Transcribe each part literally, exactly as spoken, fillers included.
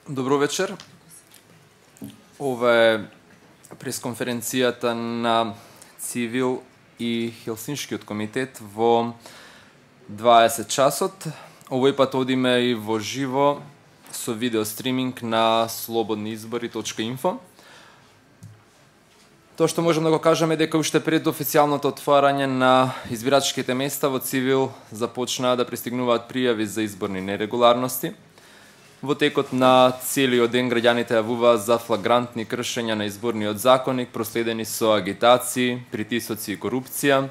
Добро вечер. Ова е пресконференцијата на Цивил и Хелсиншкиот комитет во дваесет часот. Овој пат одиме и во живо со видео стриминг на слободни избори точка инфо. Тоа што можем да го кажеме дека уште пред официјалното отварање на избирачките места во Цивил започнаа да пристигнуваат пријави за изборни нерегуларности. Во текот на целиот ден граѓаните јавуваа за флагрантни кршења на изборниот законник, проследени со агитации, притисоци и корупција.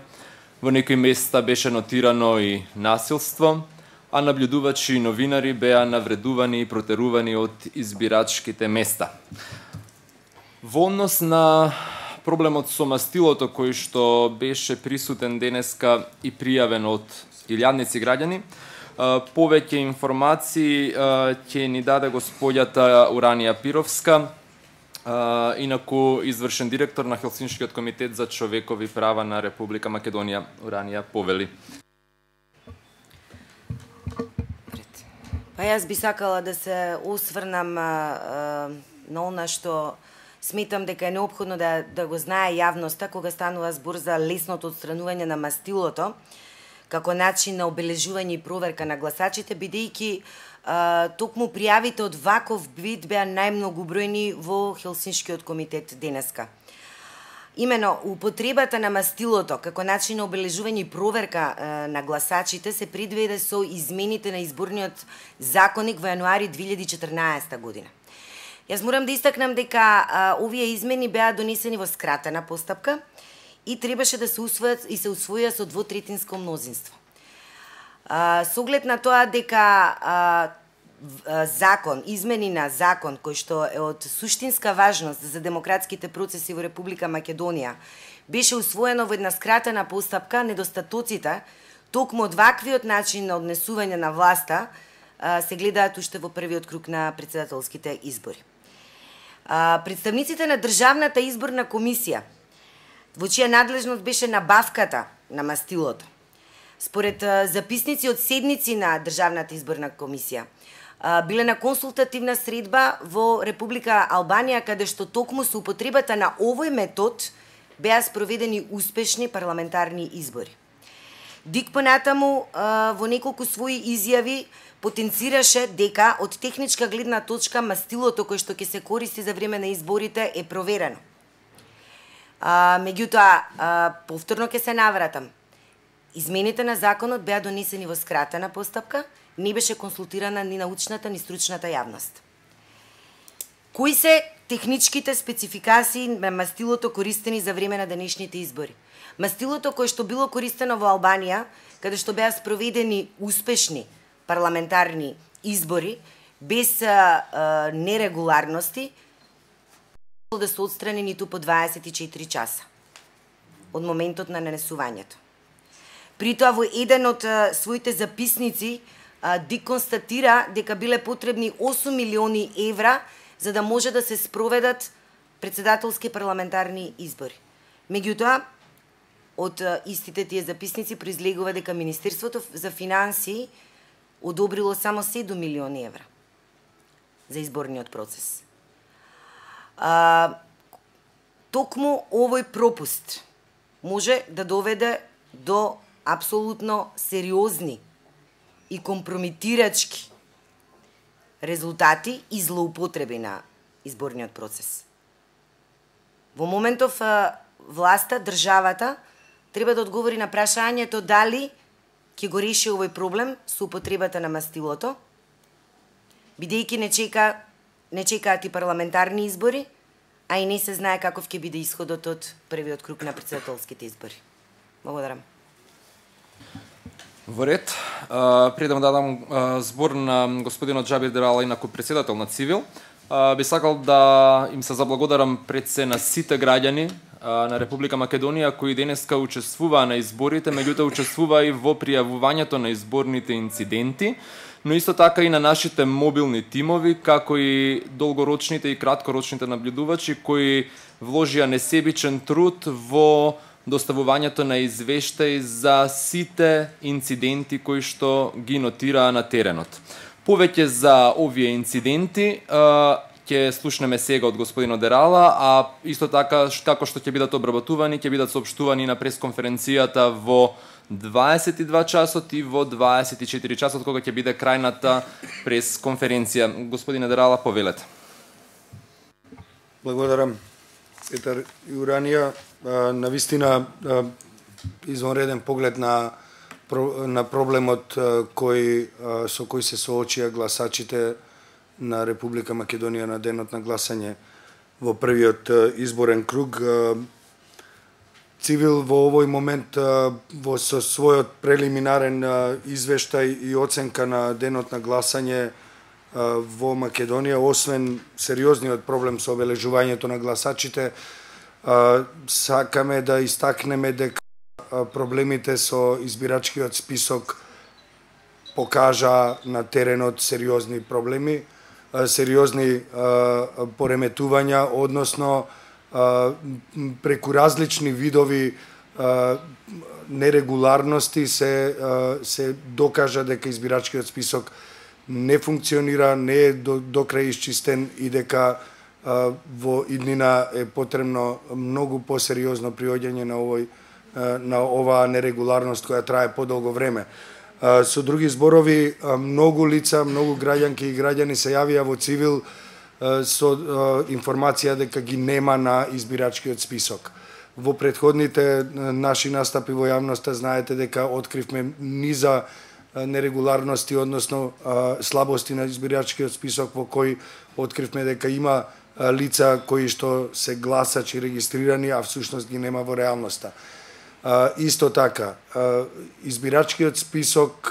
Во некои места беше нотирано и насилство, а наблюдувачи и новинари беа навредувани и протерувани од избирачките места. Во однос на проблемот со мастилото кој што беше присутен денеска и пријавен од илјадници граѓани, повеќе информации ќе ни даде господјата Уранија Пировска, инаку извршен директор на Хелсиншкиот комитет за човекови права на Република Македонија. Уранија, повели. Па јас би сакала да се осврнам на она што сметам дека е неопходно да, да го знае јавноста кога станува збор за лесното отстранување на мастилото како начин на обележување и проверка на гласачите, бидејќи токму пријавите од ваков вид беа најмногубројни во Хелсиншкиот комитет денеска. Имено, употребата на мастилото како начин на обележување и проверка е, на гласачите се предвиде со измените на изборниот законник во јануари две илјади и четрнаесета година. Јас морам да истакнам дека а, овие измени беа донесени во скратена постапка и требаше да се усвојат и се усвоја со двотретинско мнозинство. А, со оглед на тоа дека а, закон, измени на закон кој што е од суштинска важност за демократските процеси во Република Македонија беше усвоено во една скратена постапка, недостатоците токму од ваквиот начин на однесување на власта а, се гледаат уште во првиот круг на претседателските избори. А, представниците на Државната изборна комисија, во чија надлежност беше набавката на мастилото, според записници од седници на Државната изборна комисија, биле на консултативна средба во Република Албанија, каде што токму со употребата на овој метод беа спроведени успешни парламентарни избори. Дик понатаму во неколку своји изјави потенцираше дека од техничка гледна точка мастилото кој што ќе се користи за време на изборите е проверено. А, меѓутоа, а, повторно ќе се навратам. Измените на законот беа донесени во скратена постапка, не беше консултирана ни научната, ни стручната јавност. Кои се техничките спецификации на мастилото користени за време на денешните избори? Мастилото кое што било користено во Албанија, каде што беа спроведени успешни парламентарни избори, без а, а, нерегуларности, да се отстрани ниту по дваесет и четири часа од моментот на нанесувањето. При тоа во еден од а, своите записници а, Дик констатира дека биле потребни осум милиони евра за да може да се спроведат претседателски парламентарни избори. Меѓутоа, од а, истите тие записници произлегува дека Министерството за финансии одобрило само седум милиони евра за изборниот процес. А, токму овој пропуст може да доведе до апсолутно сериозни и компрометирачки резултати и злоупотреби на изборниот процес. Во моментов власта, државата, треба да одговори на прашањето дали ќе го реши овој проблем со употребата на мастилото, бидејќи не чека не чекаат и парламентарни избори, а и не се знае каков ќе биде исходот од првиот круг на претседателските избори. Благодарам. Во ред, пред да дадам збор на господинот Джабир Дерала, инаку председател на Цивил, би сакал да им се заблагодарам пред се на сите граѓани на Република Македонија кои денеска учествуваа на изборите, меѓутоа учествуваа и во пријавувањето на изборните инциденти. но исто така и на нашите мобилни тимови, како и долгорочните и краткорочните наблюдувачи кои вложија несебичен труд во доставувањето на извештаи за сите инциденти кои што ги нотираа на теренот. Повеќе за овие инциденти ќе слушнеме сега од господин Одерала, а исто така како што ќе бидат обработувани, ќе бидат соопштувани на пресконференцијата во дваесет и два часот и во дваесет и четири часот, кога ќе биде крајната пресконференција. Господин Одерала, повелете. Благодарам, Петар Јуранија. Навистина извонреден поглед на на проблемот кој со кој се соочија гласачите на Република Македонија на денот на гласање во првиот изборен круг. Цивил во овој момент во со својот прелиминарен извештај и оценка на денот на гласање во Македонија, освен сериозниот проблем со обележувањето на гласачите, сакаме да истакнеме дека проблемите со избирачкиот список покажа на теренот сериозни проблеми, сериозни пореметувања, односно преку различни видови нерегуларности се се докажа дека избирачкиот список не функционира, не е до, до крај исчистен и дека а, во иднина е потребно многу посериозно приоѓање на овој а, на оваа нерегуларност која трае подолго време. А, со други зборови, а, многу лица, многу граѓанки и граѓани се јавија во Цивил а, со а, информација дека ги нема на избирачкиот список. Во претходните наши настапи во јавноста знаете дека откривме низа нерегуларности, односно слабости на избирачкиот список во кој откривме дека има лица кои што се гласачи регистрирани, а всушност ги нема во реалноста. Исто така, избирачкиот список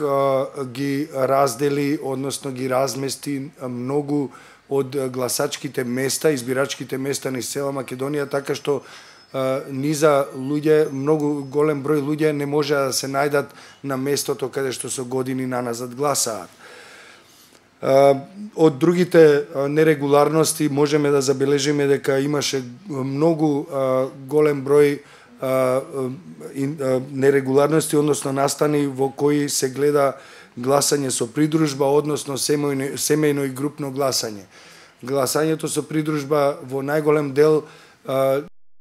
ги раздели, односно ги размести многу од гласачките места, избирачките места низ цела Македонија, така што низа луѓе, многу голем број луѓе не може да се најдат на местото каде што со години наназад гласаат. Од другите нерегуларности можеме да забележиме дека имаше многу голем број нерегуларности, односно настани во кои се гледа гласање со придружба, односно семејно, семејно и групно гласање. Гласањето со придружба во најголем дел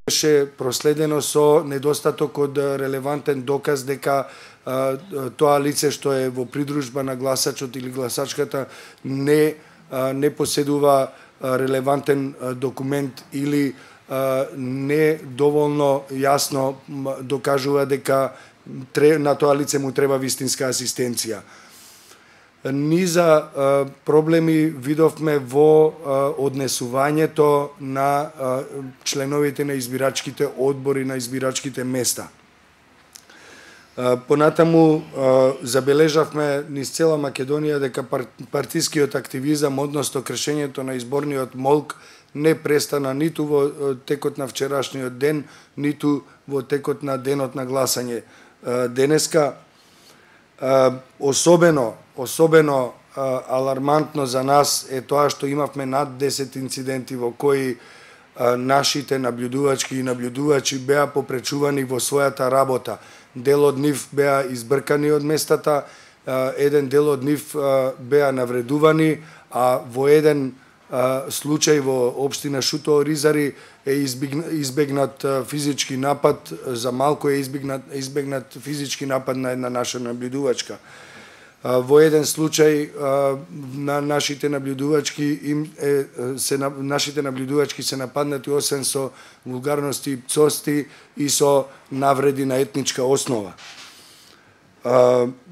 беше проследено со недостаток од релевантен доказ дека а, тоа лице што е во придружба на гласачот или гласачката не а, не поседува а, релевантен а, документ или а, не доволно јасно докажува дека тре, на тоа лице му треба вистинска асистенција. Низа а, проблеми видовме во а, однесувањето на а, членовите на избирачките одбори на избирачките места. А, понатаму а, забележавме низ цела Македонија дека пар, партискиот активизам, односно кршењето на изборниот молк не престана ниту во текот на вчерашниот ден, ниту во текот на денот на гласање а, денеска. А, особено Особено а, алармантно за нас е тоа што имавме над десет инциденти во кои а, нашите наблюдувачки и наблюдувачи беа попречувани во својата работа. Дел од нив беа избркани од местата, а, еден дел од нив а, беа навредувани, а во еден а, случај во општина Шуто Оризари е избегнат а, физички напад, за малку е избегнат, избегнат физички напад на една наша наблюдувачка. Во еден случај на нашите наблюдувачки им е, се нашите наблюдувачки се нападнати освен со вулгарности и пцости и со навреди на етничка основа.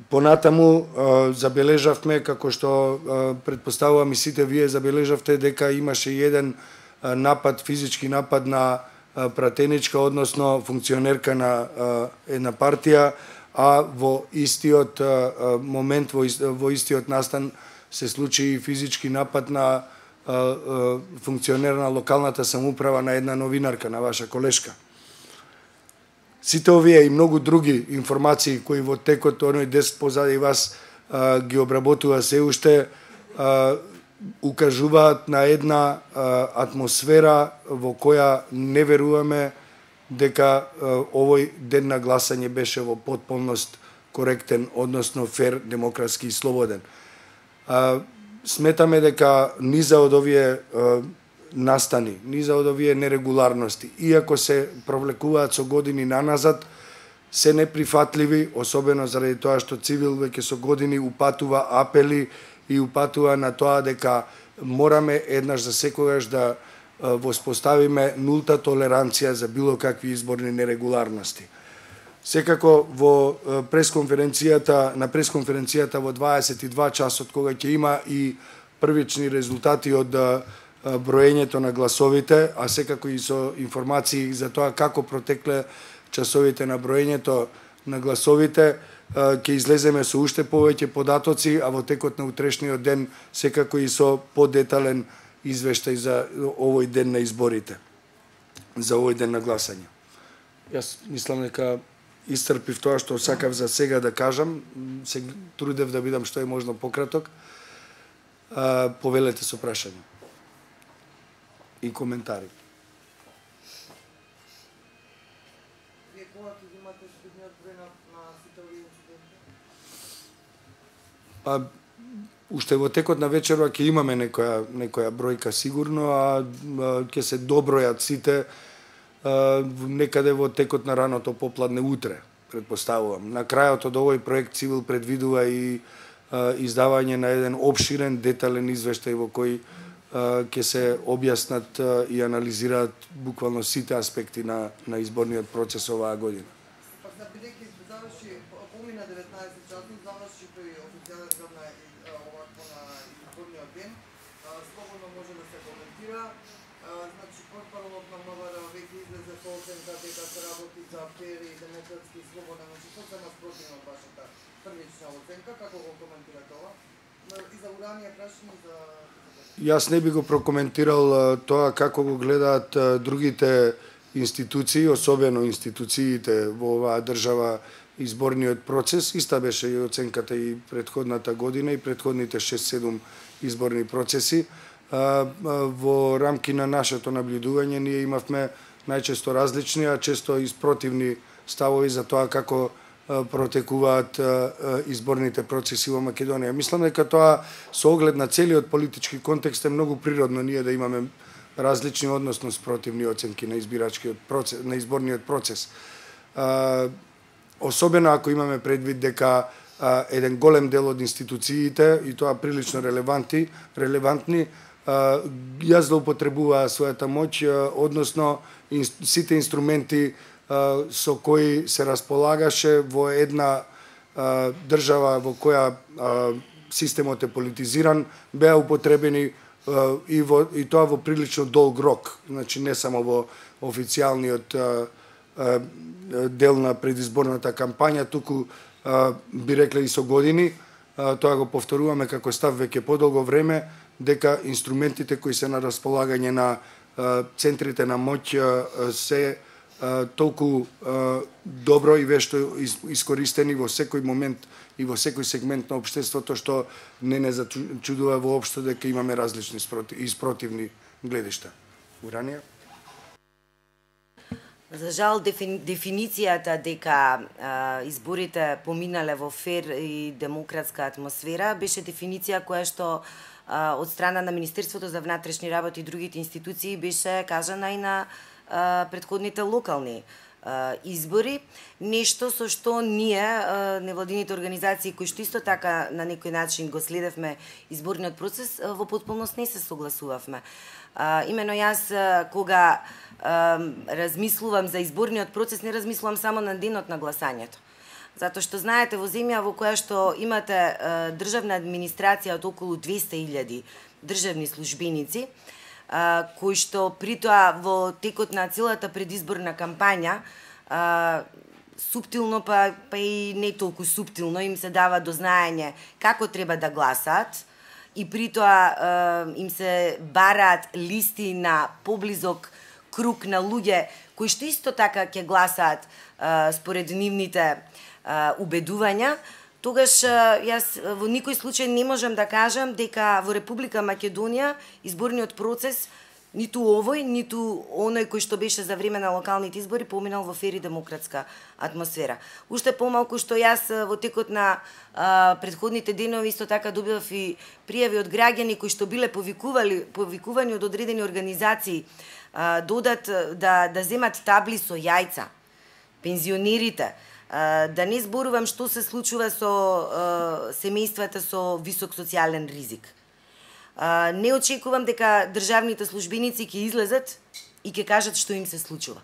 Понатаму забележавме, како што претпоставувам и сите вие забележавте, дека имаше еден напад, физички напад на пратеничка, односно функционерка на една партија, а во истиот а, момент, во, ист, во истиот настан се случи и физички напад на а, а, функционер на локалната самоуправа, на една новинарка, на ваша колешка. Сите овие и многу други информации кои во текот оној дес позади вас ги обработува се уште, укажуваат на една атмосфера во која не веруваме дека овој ден на гласање беше во потполност коректен, односно фер, демократски и слободен. Сметаме дека низа од овие настани, низа од овие нерегуларности, иако се провлекуваат со години наназад, се неприфатливи, особено заради тоа што Цивил веќе со години упатува апели и упатува на тоа дека мораме еднаш за секогаш да воспоставиме нулта толеранција за било какви изборни нерегуларности. Секако во пресконференцијата, на пресконференцијата во дваесет и два часот, кога ќе има и првични резултати од броењето на гласовите, а секако и со информации за тоа како протекле часовите на броењето на гласовите, ќе излеземе со уште повеќе податоци, а во текот на утрешниот ден секако и со подетален извештај за овој ден на изборите, за овој ден на гласање. Јас мислам дека исцрпив тоа што сакав за сега да кажам, се трудев да бидам што е можно пократок. Повелете со прашања и коментари. Вие кога ќе имате следниот број на сите овие инциденти? Па, уште во текот на вечерва ќе имаме некоја, некоја бројка сигурно, а ќе се добројат сите некаде во текот на раното попладне утре, предпоставувам. На крајот од овој проект Цивил предвидува и издавање на еден обширен, детален извештај во кој ќе се објаснат и анализираат буквално сите аспекти на, на изборниот процес оваа година. Па за бидејќи заврши, помина деветнаесет часот, заврши тој официјален дел на овакво на изборниот ден, слободно може да се коментира. Значи, портпаролот на МВР веќе излезе со оценка дека се работи за фер и демократски и слободен. Значи, сосема спротивно од вашата првична оценка, како го коментирате ова? И за уранија прашање за... Јас не би го прокоментирал тоа како го гледаат другите институции, особено институциите во оваа држава изборниот процес. Иста беше и оценката и претходната година и претходните шест-седум изборни процеси. Во рамки на нашето наблюдување ние имавме најчесто различни, а често и спротивни ставови за тоа како протекуваат изборните процеси во Македонија. Мислам дека тоа со оглед на целиот политички контекст е многу природно ние да имаме различни, односно спротивни оценки на избирачкиот процес, на изборниот процес. Особено ако имаме предвид дека еден голем дел од институциите, и тоа прилично релевантни, релевантни, ја злоупотребуваа својата моќ, односно сите инструменти со кои се располагаше во една а, држава во која а, системот е политизиран, беа употребени а, и, во, и тоа во прилично долг рок. Значи не само во официјалниот а, а, дел на предизборната кампања, туку а, би рекле и со години. А, тоа го повторуваме како став веќе подолго време, дека инструментите кои се на располагање на а, центрите на моќ а, се толку добро и вешто искористени во секој момент и во секој сегмент на општеството, што не не зачудува воопшто дека имаме различни и спротивни гледишта. Уранија? За жал, дефиницијата дека а, изборите поминале во фер и демократска атмосфера беше дефиниција која што а, од страна на Министерството за внатрешни работи и другите институции беше кажана и на предходните локални избори, нешто со што ние, невладините организации, кои што исто така на некој начин го следевме изборниот процес, во потполност не се согласувавме. Имено јас, кога размислувам за изборниот процес, не размислувам само на денот на гласањето. Затоа што знаете, во земја во која што имате државна администрација од околу двесте илјади државни службеници, Uh, кои што при тоа во текот на целата предизборна кампања uh, суптилно па, па и не толку суптилно им се дава до знаење како треба да гласаат и при тоа uh, им се бараат листи на поблизок круг на луѓе кои што исто така ќе гласаат uh, според нивните uh, убедувања. тогаш јас во никој случај не можам да кажам дека во Република Македонија изборниот процес ниту овој, ниту оној кој што беше за време на локалните избори поминал во фер и демократска атмосфера. Уште помалку што јас во текот на а, предходните денови исто така добивав и пријави од граѓани кои што биле повикували, повикувани од одредени организации а, додат да да земат табли со јајца, пензионерите, а, да не зборувам што се случува со а, семејствата со висок социјален ризик. Uh, не очекувам дека државните службеници ќе излезат и ќе кажат што им се случува.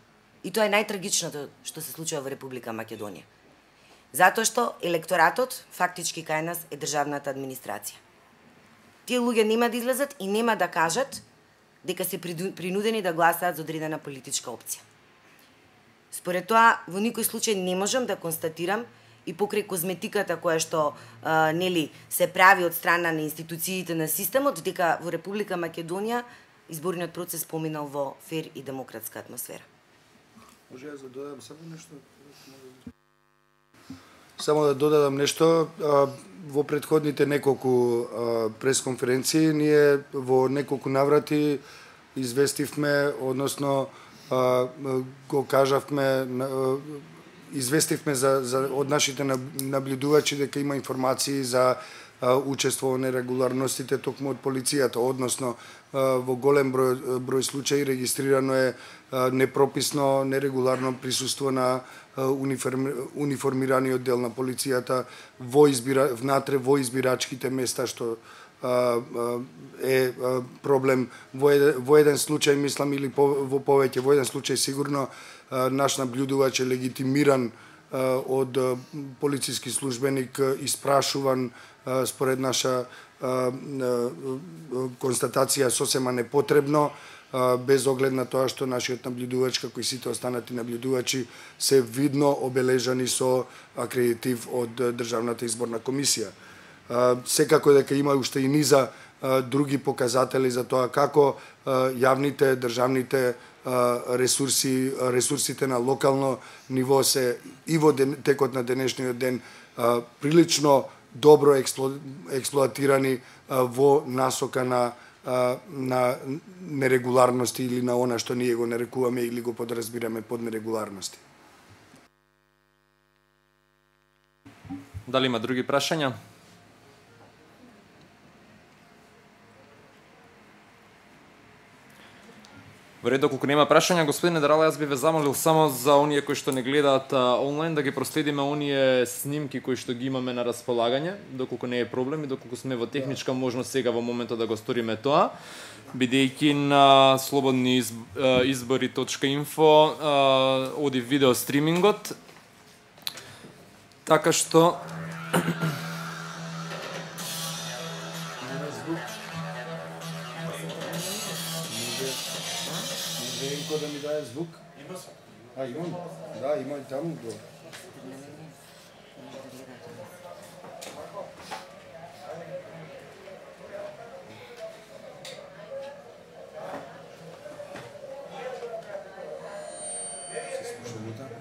И тоа е најтрагичното што се случува во Република Македонија. Затоа што електоратот фактички кај нас е државната администрација. Тие луѓе нема да излезат и нема да кажат дека се принудени да гласаат за одредена политичка опција. Според тоа, во никој случај не можам да констатирам и покрај козметиката која што а, нели се прави од страна на институциите на системот, дека во Република Македонија изборниот процес поминал во фер и демократска атмосфера. Може ја да додадам само нешто? Само да додадам нешто. Во претходните неколку пресконференции ние во неколку наврати известивме, односно го кажавме, известивме за, за од нашите наблюдувачи дека има информации за учество во нерегуларностите токму од полицијата, односно во голем број, број случаи регистрирано е непрописно, нерегуларно присуство на униформи, униформираниот дел на полицијата во избира, внатре во избирачките места, што е проблем во еден, во еден случај, мислам, или по, во повеќе, во еден случај сигурно наш наблюдувач е легитимиран од полициски службеник, испрашуван според наша констатација сосема непотребно, без оглед на тоа што нашиот наблюдувач, како и сите останати наблюдувачи, се видно обележани со акредитив од Државната изборна комисија. Секако дека има уште и низа други показатели за тоа како јавните, државните ресурси, ресурсите на локално ниво се и во ден, текот на денешниот ден прилично добро експло, експлоатирани во насока на на нерегуларности или на она што ние го нарекуваме или го подразбираме под нерегуларности. Дали има други прашања? Во ред, доколку нема прашања, господине Дарала, јас би ве замолил само за оние кои што не гледаат онлайн да ги проследиме оние снимки кои што ги имаме на располагање, доколку не е проблем и доколку сме во техничка можност сега во моментот да го сториме тоа, бидејќи на слободни избори точка инфо оди видео стримингот, така што да ми даде звук? Има се. А, имам? Да, има и таму го. Се слушаме таму.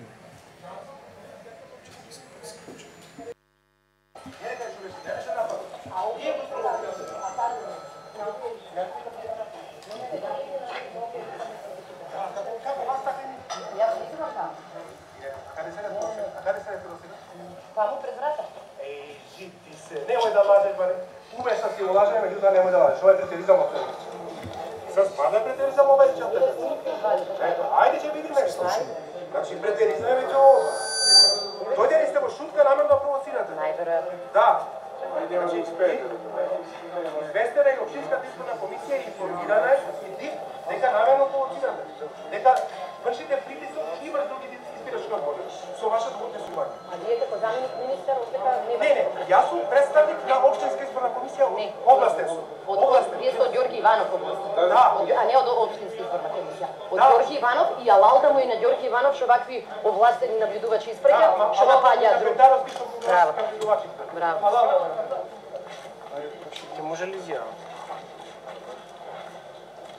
Само пред врата. Еј, жив ти се. Немој да лажеш, баре. Умеш да си го лажеш, меѓутоа немој да лажеш. Ова е претиризам од тебе. Се спада претиризам ова и чата. Ето, ајде ќе видиме што. Значи претиризам е веќе ова. Дојде ли сте во шутка намерно да провоцирате? Најверојатно. Да. Значи, известена е општинската изборна комисија и информирана е и дека намерно провоцирате. Дека вршите притисок и врз други избирачки одбори со вашето подписување. А вие како заменик министер оттека не... Не, не, јас сум представник на општинска изборна комисија, областен сум. Од, вие сте од Ѓорги Иванов областен. Да. А не од општинска изборна комисија. Од да. Ѓорги Иванов и алалта му и на ЃоргиИванов што вакви овластени наблюдувачи испраќа, да, што напаѓаат други. Браво. Браво. Ќе може ли изјава?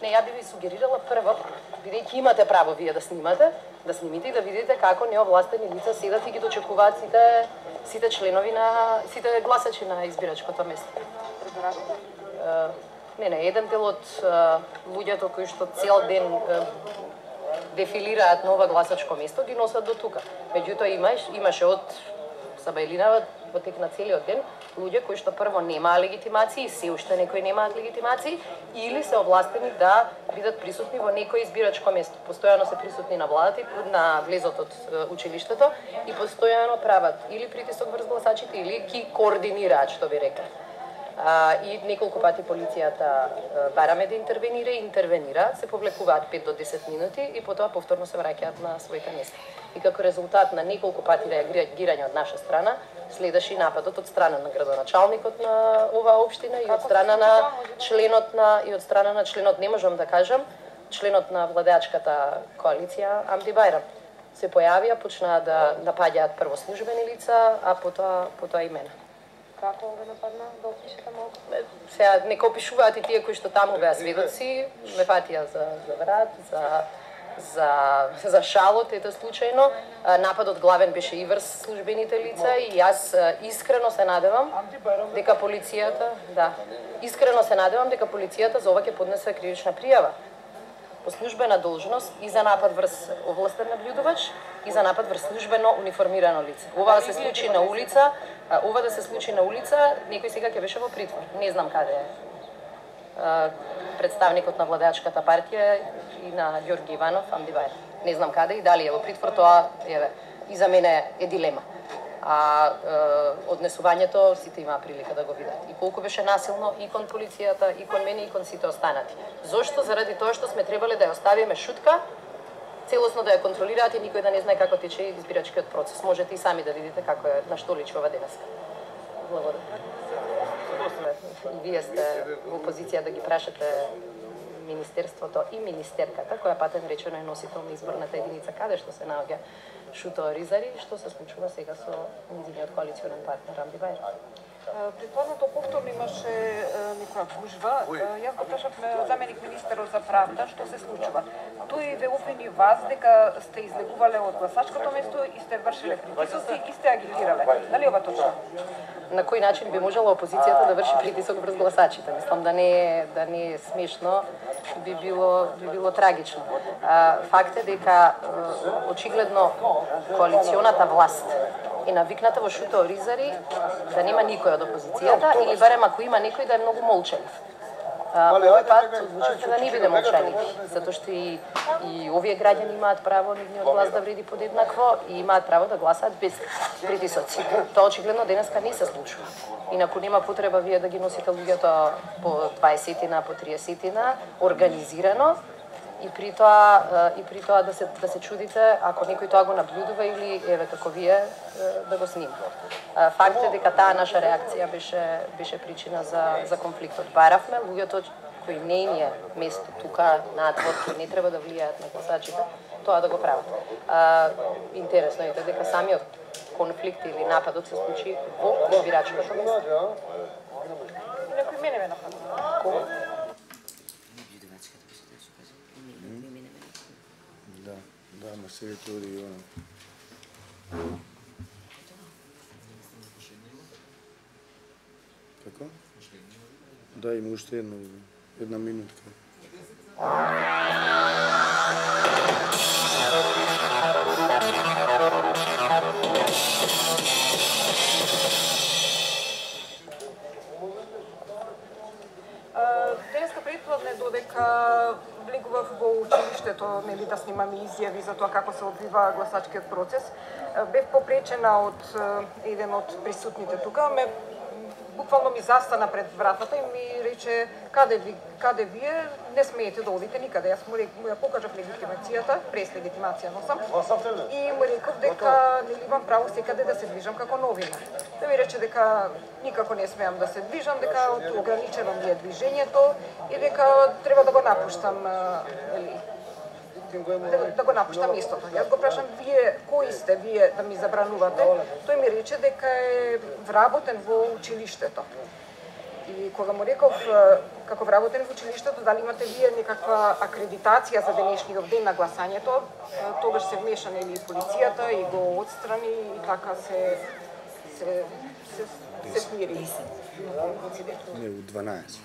Не, ја би ви сугерирала прво, бидејќи имате право вие да снимате, да снимите и да видите како неовластени лица седат и ги дочекуваат сите сите членови на сите гласачи на избирачкото место. Не, не, еден дел од луѓето кои што цел ден дефилираат на ова гласачко место ги носат до тука. Меѓутоа имаш имаше од Сабајлина во тек на целиот ден луѓе кои што прво немаа легитимации, се уште некои немаат легитимации или се овластени да бидат присутни во некој избирачко место. Постојано се присутни на владата и на влезот од училиштето и постојано прават или притисок врз гласачите или ги координираат, што би рекла. А, и неколку пати полицијата бараме да интервенира и интервенира, се повлекуваат пет до десет минути и потоа повторно се враќаат на своите места. И како резултат на неколку пати реагирање од наша страна, следеше и нападот од страна на градоначалникот на оваа општина и од страна на членот на и од страна на членот, не можам да кажам, членот на владеачката коалиција Амди Бајрам. Се појавија, почнаа да напаѓаат прво службени лица, а потоа потоа и мене. Како ве нападна, да опишете малку? Сега нека опишуваат и тие кои што таму беа сведоци, ме фатија за за врат, за за за шалот, ете случајно. Нападот главен беше и врз службените лица и јас искрено се надевам дека полицијата, да, искрено се надевам дека полицијата за ова ќе поднесе кривична пријава по службена должност и за напад врз овластен наблюдувач и за напад врз службено униформирано лице. Ова да се случи на улица, ова да се случи на улица, некој сега ќе беше во притвор. Не знам каде е представникот на владеачката партија и на Ѓорги Иванов, Амди Бајрам. Не знам каде и дали е во притвор, тоа еве и за мене е дилема. А е, однесувањето сите имаа прилика да го видат. И колку беше насилно и кон полицијата, и кон мене, и кон сите останати. Зошто? Заради тоа што сме требале да ја оставиме шутка, целосно да ја контролираат и никој да не знае како тече избирачкиот процес. Можете и сами да видите како е на што личи ова денеска. Благодарам. И вие сте во позиција да ги прашате Министерството и Министерката, која патен речено е носител на изборната единица, каде што се наоѓа Шуто Ризари, што се случува сега со низиниот коалиционен партнер Амди Бајрам. Предходното повторно имаше некоја гужва. Јас го прашав заменик министерот за правда што се случува. Тој ве обвини вас дека сте излегувале од гласачкото место и сте вршиле притисоци и сте агитирале. Дали ова точно? На кој начин би можела опозицијата да врши притисок врз гласачите? Мислам да не е да не е смешно, би било би било трагично. А, факт е дека очигледно коалиционата власт е навикната во Шуто Ризари да нема никој од опозицијата или барем ако има некој да е многу молчалив. Овој пат одлучивте да не биде молчалив, затоа што и, и овие граѓани имаат право нивниот глас да вреди подеднакво и имаат право да гласаат без притисоци. Тоа очигледно денеска не се случува. Инаку нема потреба вие да ги носите луѓето по дваесетина, по триесетина, организирано, и при тоа и при тоа да се да се чудите ако некој тоа го наблюдува или еве како вие да го снима. Факт е дека таа наша реакција беше беше причина за за конфликтот. Баравме луѓето кои не им е место тука надвор, кои не треба да влијаат на гласачите, тоа да го прават. А, интересно е дека самиот конфликт или нападот се случи во избирачкото место. Некој мене ме нападна. Да, да, ма се тоа и она. Како? Да, има уште една, една минутка. Денеска предпладне додека влегував во училиштето, нели да снимам изјави за тоа како се одвива гласачкиот процес, бев попречена од еден од присутните тука, ме буквално ми застана пред вратата и ми рече каде ви каде вие не смеете да одите никаде. Јас му ја покажав легитимацијата, прес легитимација носам. И му реков дека нели имам право секаде да се движам како новинар. Да ми рече дека никако не смеам да се движам, дека ограничено ми е движењето и дека треба да го напуштам, нели, да, да го напуштам местото. Јас го прашам вие кои сте вие да ми забранувате? Тој ми рече дека е вработен во училиштето. И кога му реков, како вработен во училиштето, дали имате вие некаква акредитација за денешниот ден на гласањето, тогаш се вмеша нели полицијата и го отстрани и така се се се, се смири инцидентот. Не, у дванаесет.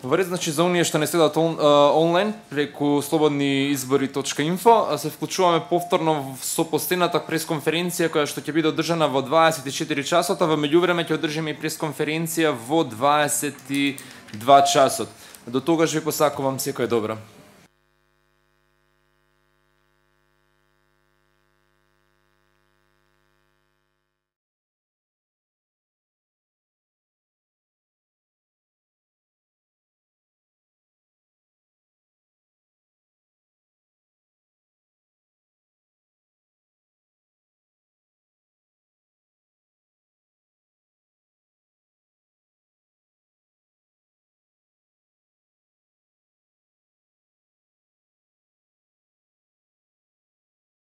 Во ред, значи за оние што не следат он, а, онлайн преку слободниизбори точка инфо, се вклучуваме повторно со постената пресконференција која што ќе биде одржана во дваесет и четири часот, а во меѓувреме ќе одржиме и пресконференција во дваесет и два часот. До тогаш ви посакувам секој добро.